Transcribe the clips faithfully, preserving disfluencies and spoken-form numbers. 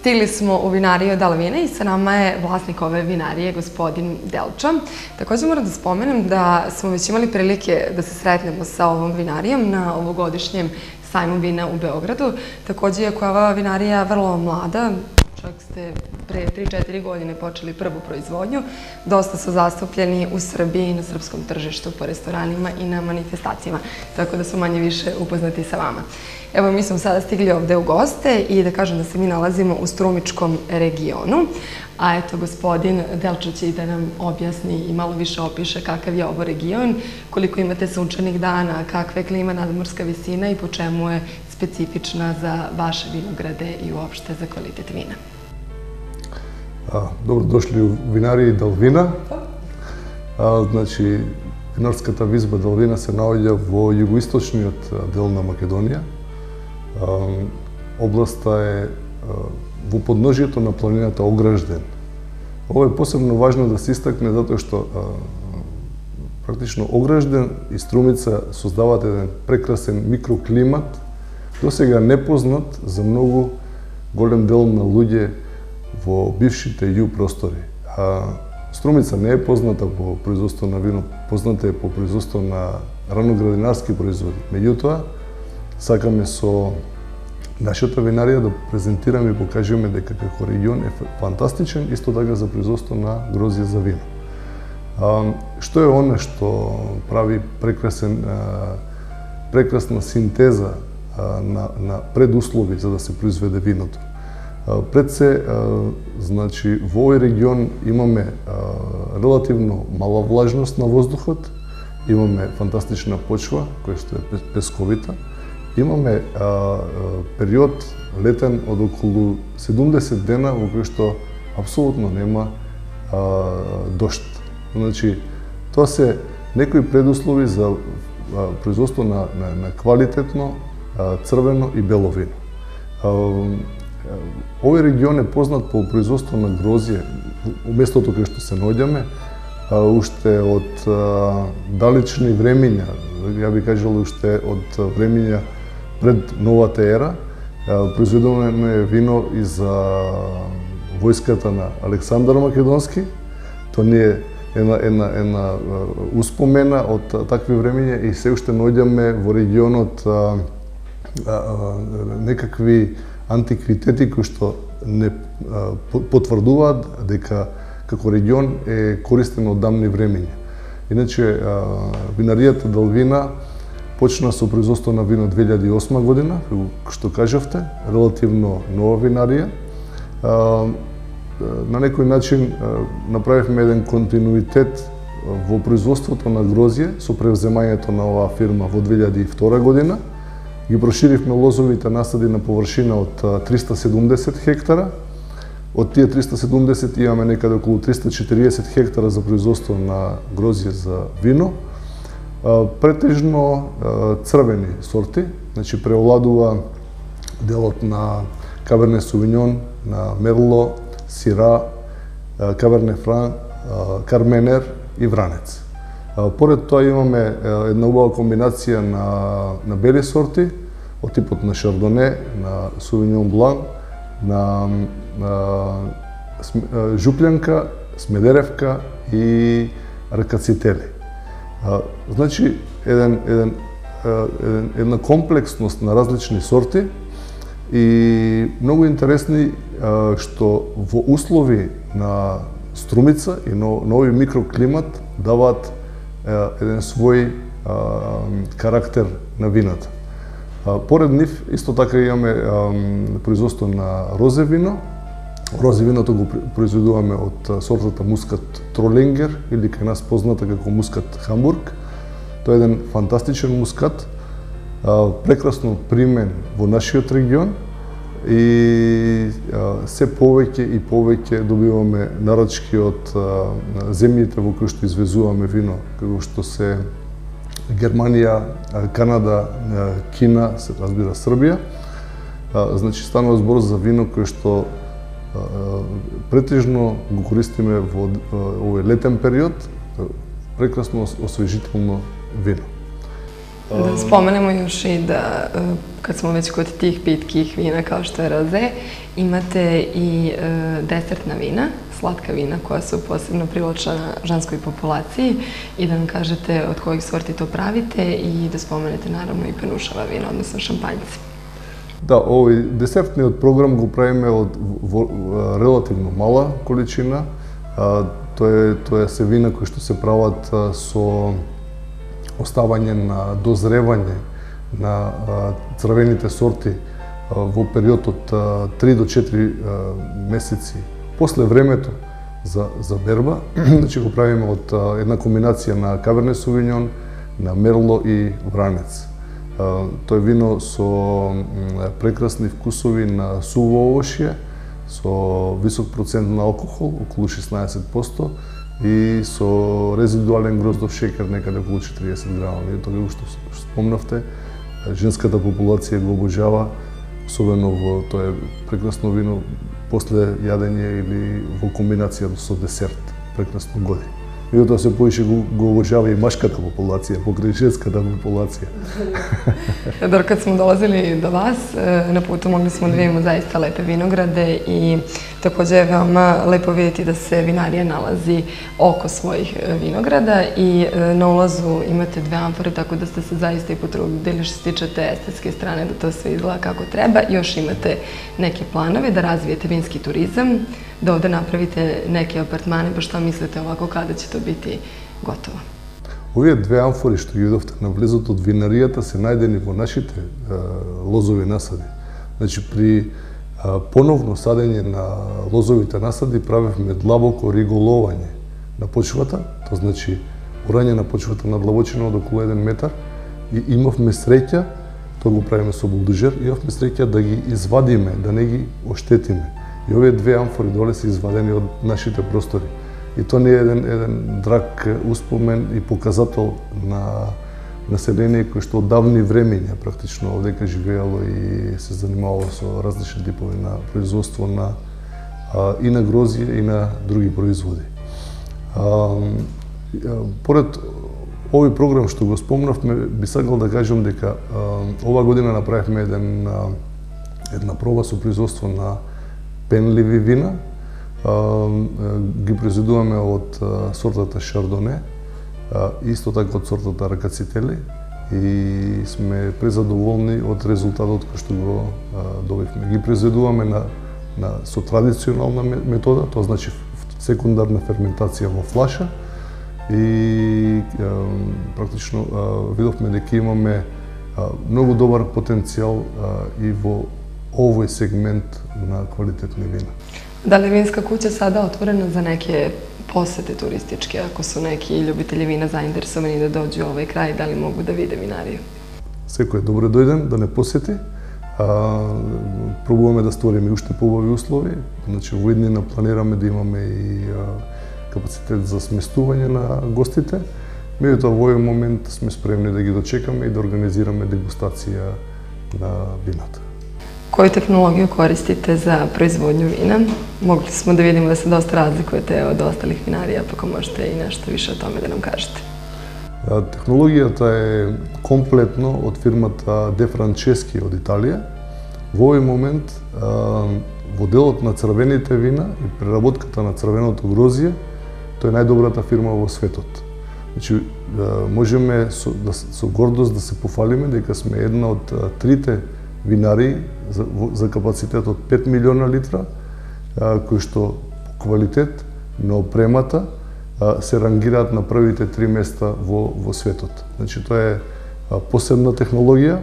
Stigli smo u vinariju Dalvina i sa nama je vlasnik ove vinarije, gospodin Delča. Također moram da spomenem da smo već imali prilike da se sretnemo sa ovom vinarijom na ovogodišnjem sajmu vina u Beogradu. Također, iako je ova vinarija vrlo mlada, čak ste pre tri četiri godine počeli prvu proizvodnju, dosta su zastupljeni u Srbiji, na srpskom tržištu, po restoranima i na manifestacijama, tako da su manje više upoznati sa vama. Evo, mi smo sada stigli ovde u goste i da kažem da se mi nalazimo u Strumičkom regionu, a eto, gospodin Delča će i da nam objasni i malo više opiše kakav je ovo region, koliko imate sunčanih dana, kakva je klima, nadmorska visina i po čemu je specifična za vaše vinograde i uopšte za kvalitet vina. Dobro došli u vinariji Dalvina. Значи, винарската визба Далвина се наоѓа во југоисточниот дел на Македонија. Областа е во подножието на планината Огражден. Ова е посебно важно да се истакне затоа што практично Огражден и Струмица создаваат еден прекрасен микроклимат, досега непознат за многу голем дел на луѓе во бившите ју простори. Струмица не е позната по производство на вино, позната е по производство на раноградинарски производи. Меѓутоа, сакаме со нашата винарија да презентираме и покажеме дека како регион е фантастичен, исто така за производство на грозје за вино. Што е она што прави прекрасен, прекрасна синтеза на, на предуслови за да се произведе виното? Пред се, значи, во овој регион имаме релативно мала влажност на воздухот, имаме фантастична почва, која што е песковита, имаме период летен од околу седумдесет дена во кој што апсолутно нема дожд. Значи, тоа се некои предуслови за производство на, на, на квалитетно црвено и бело вино. Овој регион е познат по производство на грозје, у местото кај што се наоѓаме, уште од далечни времиња, ја би кажал уште од времиња пред новата ера. Произведувано е вино и за војската на Александар Македонски. Тоа не е една, една, една успомена од такви времиња и се уште наоѓаме во регионот а, а, некакви антиквитети кои што не потврдуваат дека како регион е користен од давни времиња. Иначе, винаријата Далвина почна со производство на вино две илјади и осма година, што кажавте, релативно нова винарија. На некој начин направивме еден континуитет во производството на грозје со превземањето на оваа фирма во две илјади и втора година. Ги проширивме лозовите насади на површина од триста седумдесет хектара. Од тие триста седумдесет имаме некаде околу триста четириесет хектара за производство на грозје за вино. Претежно црвени сорти, значи преовладува делот на Каберне Сувиньон, на Мерло, Сира, Каберне Фран, Карменер и Вранец. Поред тоа имаме една убава комбинација на, на бели сорти, од типот на Шардоне, на Сувиньон Блан, на, на Жуплянка, Смедеревка и Ракацители. Значи, еден, еден, еден, една комплексност на различни сорти и многу интересни што во услови на Струмица и на нови микроклимат даваат еден свој а, карактер на вината. А, поред нив, исто така имаме а, производство на розе вино. Розе виното го произведуваме од сортата мускат Тролингер или кај нас позната како мускат Хамбург. Тоа е еден фантастичен мускат, а, прекрасно примен во нашиот регион и а, се повеќе и повеќе добиваме нарачки од а, земјите во кои што извезуваме вино, како што се Германија, Канада, Кина, се разбира Србија. А, значи станува збор за вино кое што а, претежно го користиме во овој летен период, прекрасно освежително вино. Da spomenemo još i da, kad smo već kod tih pitkih vina kao što je roze, imate i desertna vina, slatka vina koja su posebno privlačena ženskoj populaciji i da nam kažete od kojih sorti to pravite i da spomenete naravno i penušava vina, odnosno šampanjci. Да, овој десертниот програм го правиме од релативно мала количина. Тоа е тоа се вина кои што се прават со оставање на дозревање на црвените сорти во период од три до четири месеци после времето за за берба. Значи го правиме од една комбинација на Каберне Сувињон, на Мерло и Вранец. Тоа е вино со прекрасни вкусови на суво овошје, со висок процент на алкохол, околу шеснаесет проценти, и со резидуален гроздов шекер некаде околу четириесет грама. Тоа што спомнавте, женската популација го обожава, особено во тоа е прекрасно вино после јадење или во комбинација со десерт. Прекрасно годи. Меѓутоа се поише го, го обожава и машката популација, покрај женската популација. Дор, kad smo dolazili do vas, na putu mogli smo da vidimo zaista lepe vinograde i takođe je veoma lepo vidjeti da se vinarija nalazi oko svojih vinograda i na ulazu imate dve amfore, tako da ste se zaista i potrudili što se tiče te estetske strane da to sve izgleda kako treba. Još imate neke planove da razvijete vinski turizam, da ovde napravite neke apartmane, pa šta mislite ovako kada će to biti gotovo? Овие две амфори што ги видовте на влезот од винаријата се најдени во нашите е, лозови насади. Значи, при е, поновно садење на лозовите насади правевме длабоко риголовање на почвата, тоа значи урање на почвата на длабочина од околу еден метар, и имавме среќа, тоа го правиме со булдожер, имавме среќа да ги извадиме, да не ги оштетиме. И овие две амфори доле се извадени од нашите простори. И тоа не е еден, еден драг успомен и показател на население кој што од давни времења практично овдека живеело и се занимавало со различни типови на производство на а, и на грозје и на други производи. А, поред овој програм што го спомнавме, би сакал да кажам дека а, ова година направивме еден, а, една проба со производство на пенливи вина. Ги произведуваме од сортата Шардоне, исто така од сортата Ракацители, и сме презадоволни од резултатот кој што го добивме. Ги произведуваме на, на со традиционална метода, тоа значи секундарна ферментација во флаша, и практично видовме дека имаме многу добар потенцијал и во овој сегмент на квалитетни вина. Da li je vinska kuća sada otvorena za neke posete turističke, ako su neki ljubitelji vina zainteresovani da dođu u ovaj kraj, da li mogu da vide vinariju? Секој е добре дојден да не посети. А, пробуваме да створиме уште поубави услови. Значи, во иднина планираме да имаме и а, капацитет за сместување на гостите. Меѓутоа, во овој момент сме спремни да ги дочекаме и да организираме дегустација на вината. Koju tehnologiju koristite za proizvodnju vina? Mogli smo da vidimo da se dosta razlikujete od ostalih vinarija, pa ako možete i nešto više o tome da nam kažete. Технологијата е комплетно од фирмата Де Франчески од Италија. Во овој момент, во делот на црвените вина и преработката на црвеното грозје, тоа е најдобрата фирма во светот. Значи, можеме со, да, со гордост да се пофалиме дека сме една од трите винари за, за капацитет од пет милиона литра, кои што по квалитет на опремата се рангираат на првите три места во, во светот. Значи, тоа е посебна технологија,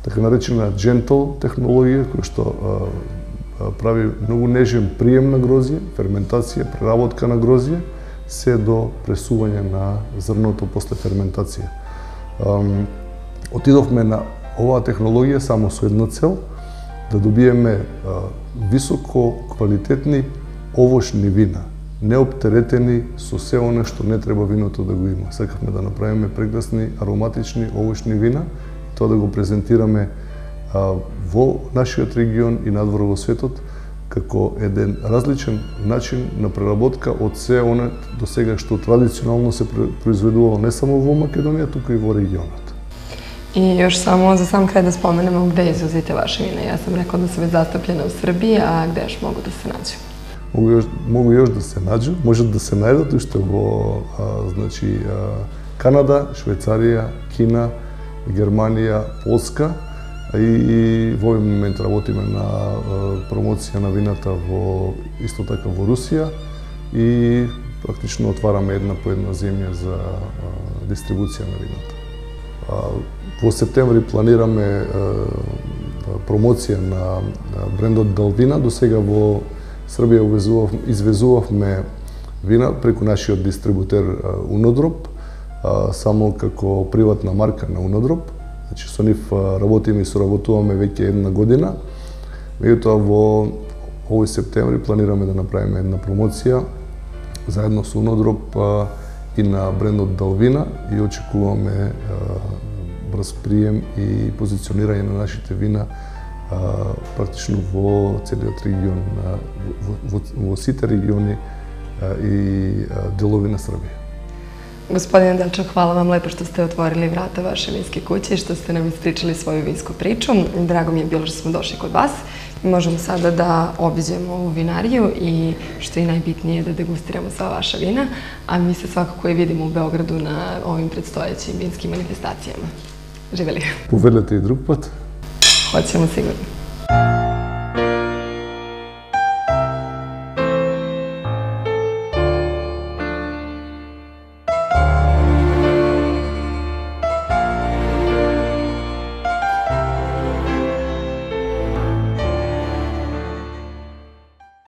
така наречена gentle технологија, која што а, прави многу нежен прием на грозје, ферментација, преработка на грозје, се до пресување на зрното после ферментација. А, отидовме на оваа технологија само со една цел, да добиеме а, високо квалитетни овошни вина, неоптеретени со се оно што не треба виното да го има. Сакавме да направиме прекрасни ароматични овошни вина и тоа да го презентираме а, во нашиот регион и надвор во светот како еден различен начин на преработка од се оно до сега што традиционално се произведувало не само во Македонија, туку и во регионот. I još samo za sam kraj da spomenemo gde izvozite vaše vina. Ja sam rekla da su već zastupljene u Srbiji, a gde još mogu da se nađu? Mogu još, mogu još da se nađu, може да се најдат уште во а, значи, а, Канада, Швейцарија, Кина, Германија, Полска, и, и во овој момент работиме на а, промоција на вината во исто така во Русија и практично отвараме една по една земја за а, дистрибуција на вината. А, во септември планираме а, промоција на брендот Далвина. До сега во Србија извезувавме вина преку нашиот дистрибутер Унодроп, само како приватна марка на Унодроп. Значи со нив работиме и соработуваме веќе една година. Меѓутоа во овој септември планираме да направиме една промоција заедно со Унодроп и на брендот Далвина и очекуваме брз прием и позиционирање на нашите вина а, практично во целиот регион, во, во, во сите региони а, и а, делови на Србија. Gospodine Delčak, hvala vam lepo što ste otvorili vrata vaše vinske kuće i što ste nam ispričali svoju vinsku priču. Drago mi je bilo što smo došli kod vas. Možemo sada da obiđemo ovu vinariju i što je najbitnije da degustiramo sva vaša vina, a mi se svakako i vidimo u Beogradu na ovim predstojećim vinskim manifestacijama. Živeli! Повелете и друг пат. Hoćemo sigurno.